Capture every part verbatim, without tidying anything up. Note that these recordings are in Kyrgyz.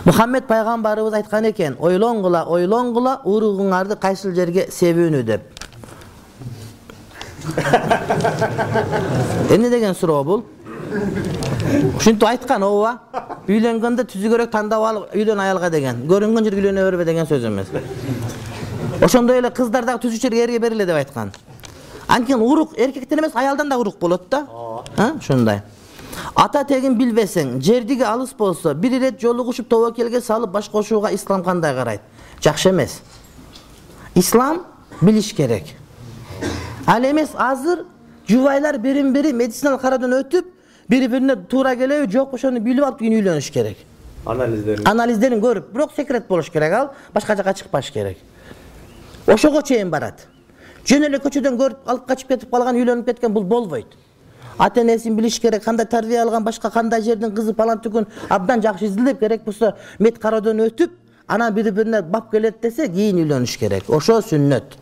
Muhammed пайгамбарыбыз айткан экен, ойлоңгула, ойлоңгула, уругуңарды кайсыл жерге себүүнү деп. Эмне деген суроо бул? Ушинтип айткан ооба. Үйлөнгөндө түзүгөрөөк тандап алып үйлөн аялга деген. Көрүнгөн жерге үйлөнө бербе деген сөз эмес. Ошондой эле кыздар дагы түзүк жерге эрге бериле деп айткан. Анткени урук эркектен эмес, аялдан да урук болот да. А, ушундай. Ата тегин билбесең, жердиги алыс болсо, бир ирет жолугушуп тобокелге салып баш кошууга ислам кандай карайт? Жакшы эмес. Ислам билиш керек. Ал эмес азыр жубайлар бирин-бири медициналык кароодон өтүп, бири-бирине туура келеби, жок ошону билип алып кийин үйлөнүш керек. Анализдерин. Анализдерин көрүп, бирок секрет болуш керек, ал башка жака чыкпаш керек. Ошого чейин барат. Жөн эле көчөдөн көрүп алып качып кетип калган, үйлөнүп кеткен бул болбойт. Ата энесин билиш керек, кандай тарбия алган, башка кандай жердин кызы палан түгүн абдан жакшы изилдеп, керек болсо мед кароодон өтүп, анан бири-бирине бап келет десе, кийин үйлөнүш керек. Ошо сүннөт.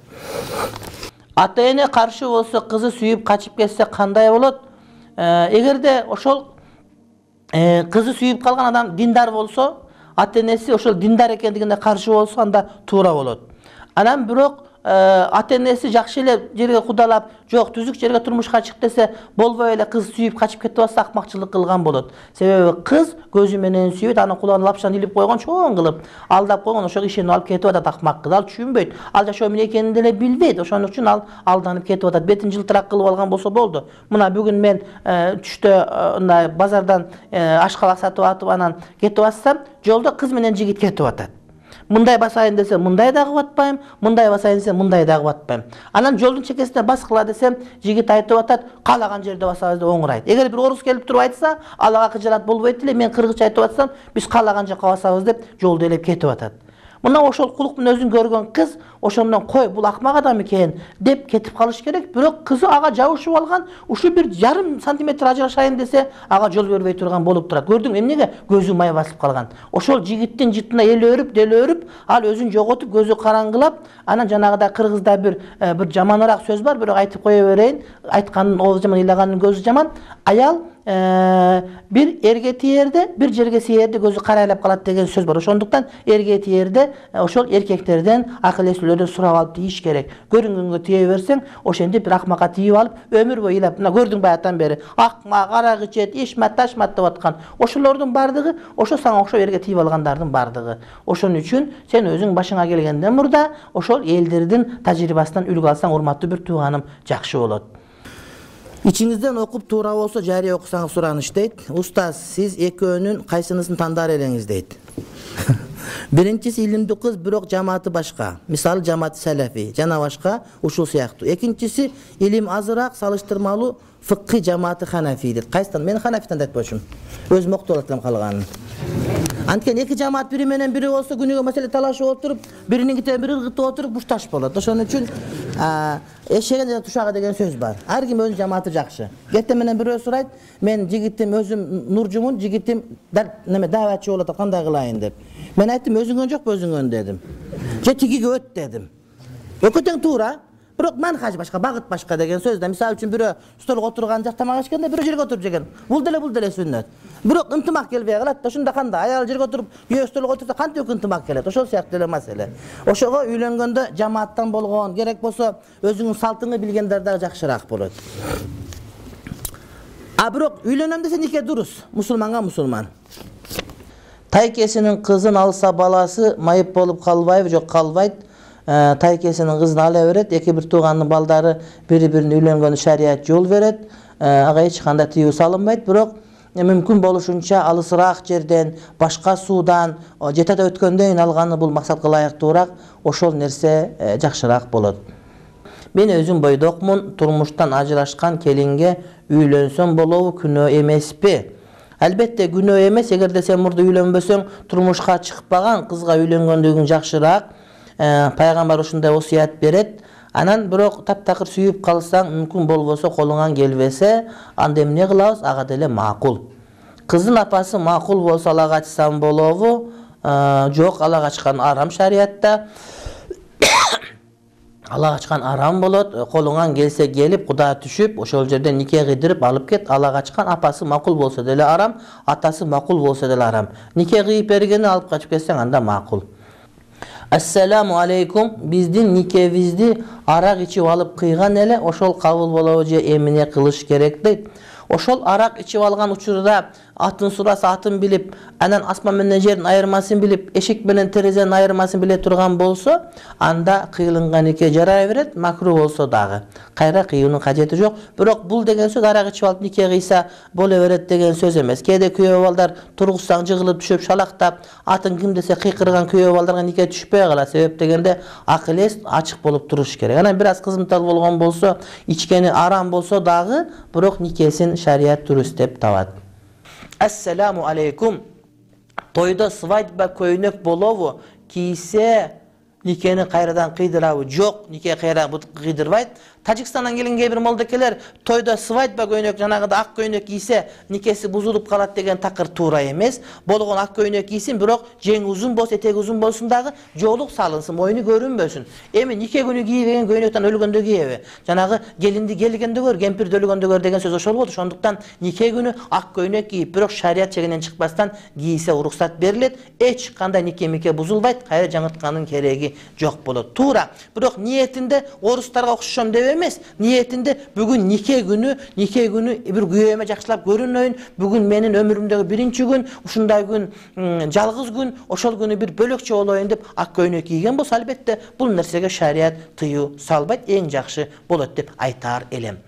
Ата эне каршы болсо, кызы сүйүп качып кетсе кандай болот? Эгерде ошол кызы сүйүп калган адам диндар болсо, ата энеси ошол диндар экендигине каршы болсо, анда туура болот. Анан бирок ата энеси жакшы эле жерге кудалап, жок түзүк жерге турмушка чык десе, болбой эле кыз сүйүп качып кетип атса, акмакчылык кылган болот. Себеби кыз көзү менен сүйөт, анын кулагына лапшаны илип койгон, чоң кылып алдап койгон, ошого ишенип алып кетип атат акмак кыз. Ал түшүнбөйт. Ал жашоо эмне экенин деле билбейт. Ошондук үчүн ал алданып кетип атат. Бетин жылтырак кылып алган болсо болду. Мына бүгүн мен түштө мындай базардан ашкабак сатып атып анан кетип атсам, жолдо кыз менен жигит кетип атат. Мындай басайын десе, мындай дагы батпайм, мындай басайын десе, мындай дагы батпайм. Анан жолдун чекесине баскыла десем, жигит айтып атат, каалаган жерде басабыз деп оңурайт. Эгер бир орус келип туруп айтса, алага кыжырат болбойт эле, мен кыргызча айтып атсам, биз каалаган жака басабыз деп жолду элеп кетип атат. Мына ошол кулук мүнөзүн көргөн кыз ошондон кой, бул акмак адам экен деп кетип калыш керек. Бирок кызы ага жабышып алган, ушу бир жарым сантиметр ажырашайын десе, ага жол бербей турган болуп турат. Көрдүң эмнеге? Көзү май басып калган. Ошол жигиттин жытына эл өрүп, дел өрүп, ал өзүн жоготуп, көзү караңгылап, анан жанагыда кыргызда бир бир жаманыраак сөз бар, бирок айтып кое берейин. Айткандын оозу жаман, ыйлагандын көзү жаман. Аял бир эрге тиерде, бир жерге сиерде көзү карайлап калат деген сөз бар. Ошондуктан эрге тиерде ошол эркектерден, акыл эслүүлөрдөн сурап алып тийиш керек. Көрүнгөнгө тие берсең, ошентип бир акмакка тийип алып, өмүр бою ыйлап, мына көрдүң баягыдан бери, акмак, арак ичет, ишмат, ташмат деп аткан. Ошолордун бардыгы, ошо сага окшоп эрге тийип алгандардын бардыгы. Ошон үчүн сен өзүң башыңа келгенден мурда ошол элдердин тажрыйбасынан үлгү алсаң, урматтуу бир тууганым, жакшы болот. Ичиңизден окуп туура болсо жарыя окусаңыз сураныш дейт. Устаз, сиз экөөнүн кайсынысын тандаар элеңиз дейт. Биринчиси илимдүү кыз, бирок жамааты башка. Мисалы жамааты салафи, жана башка ушул сыяктуу. Экинчиси илим азыраак, салыштырмалуу фыкый жамааты ханафи дейт. Кайсытан? Мен ханафитан айтпочумун. Өзүм октолот элем калганын. Анткени эки жамаат бири менен бири болсо, күнүгө маселе талашып отуруп, бириниңкитен бири ыргытып отуруп бушташ болот. Ошон үчүн эшеген жана тушага деген сөз бар. Ар ким өзүнүн жамааты жакшы. Кетте менен бирөө сурайт, мен жигитим өзүм нуржумун, жигитим неме дааватчы болот, кандай кылайын деп. Мен айттым, өзүңөн жокпу өзүңөн дедим. Же тигиге өт дедим. Экөө тең туура. Бирок манхаж башка, багыт башка деген сөз да. Мисалы үчүн бирөө столго отурган жак тамак ичкенде, бирөө жерге отуруп жеген. Бул деле бул деле сүннөт. Бирок ынтымак келбей калат да. Ошондо кандай? Аял жерге отуруп, күйөө столго отурса кантип ынтымак келет? Ошол сыяктуу эле маселе. Ошого үйлөнгөндө жамааттан болгон, керек болсо өзүңүн салтыңы билгендер дагы жакшыраак болот. А бирок үйлөнөм десе нике дурус. Мусулманга мусулман. Тайкесинин кызын алса баласы майып болуп калбайбы? Жок, калбайт. Тайкесинин кызын ала берет, эки бир тууганын балдары бири-бирине үйлөнгөнү шарият жол берет. Ага эч кандай тыюу салынбайт, бирок мүмкүн болушунча алысыраак жерден, башка суудан, жетада өткөндөн алганы бул максатка ылайыктуураак, ошол нерсе жакшыраак болот. Мен өзүм бойдокмун, турмуштан ажырашкан келинге үйлөнсөм болобу, күнөө эмеспи? Албетте күнөө эмес, эгерде сен мурда үйлөнбөсөң, турмушка чыкпаган кызга үйлөнгөндүгүң жакшыраак. Пайгамбар ушундай осуят берет. Анан бирок таптакыр сүйүп калсаң, мүмкүн болбосо колуңан келбесе, анда эмне кылабыз? Ага деле макул. Кыздын апасы макул болсо ала качсам болобу? Жок, ала качкан арам шариятта. Ала качкан арам болот. Колуңан келсе келип, Куда түшүп, ошол жерден нике кыйдырып алып кет. Ала качкан апасы макул болсо деле арам, атасы макул болсо деле арам. Нике кыйып бергени алып качып кетсең, анда макул. Ассаламу алейкум. Биздин никебизди арак ичип алып кыйган эле, ошол кабыл болобу же эмне кылыш керек дейт. Ошол арак ичип алган учурда атын сураса атын билип, анан асман менен жердин айырмасын билип, эшик менен терезенин айырмасын биле турган болсо, анда кыйлынган нике жарай берет, макру болсо дагы. Кайра кыюунун кажети жок. Бирок бул деген сөз арак ичип алып нике кыйса боло берет деген сөз эмес. Кээде күйөө балдар тургузсаң жыгылып түшүп шалактап, атын ким десе кыйкырган күйөө балдарга нике түшпөй калат. Себеп дегенде акыл эс ачык болуп туруш керек. Анан бир аз кызматтар болгон болсо, ичкени арам болсо дагы, бирок никесин шарият дурус деп табат. Ассаламу алейкум. Тойдо свадьба көйнөк болобу? Кийсе никени кайрадан кыйдырабы? Жок, нике кайрадан кыйдырбайт. Тажикстандан келген кээ бир молдокелер тойдо свадьба көйнөк, жанагыда ак көйнөк кийсе никеси бузулуп калат деген такыр туура эмес. Болгон ак көйнөк кийсин, бирок жең узун болсо, этеги узун болсун дагы, жоолук салынсын, мойну көрүнбөсүн. Эми нике күнү кийбеген көйнөктөн өлгөндө кийеби? Жанагы келинди келгенде көр, кемпирди өлгөндө көр деген сөз ошол болду. Ошондуктан нике күнү ак көйнөк кийип, бирок шарият чегинен чыкпастан кийсе уруксат берилет. Эч кандай нике мике бузулбайт, кайра жаңырткандын кереги жок болот. Туура. Бирок ниетинде орустарга окшошом деп эмес, ниетинде бүгүн нике күнү, нике күнү бир күйөөмө жакшылап көрүнөйүн, бүгүн менин өмүрүмдөгү биринчи күн, ушундай күн, жалгыз күн, ошол күнү бир бөлөкчө болоюн деп ак көйнөк кийген болсо, албетте бул нерсеге шарият тыюу салбайт, эң жакшы болот деп айтаар элем.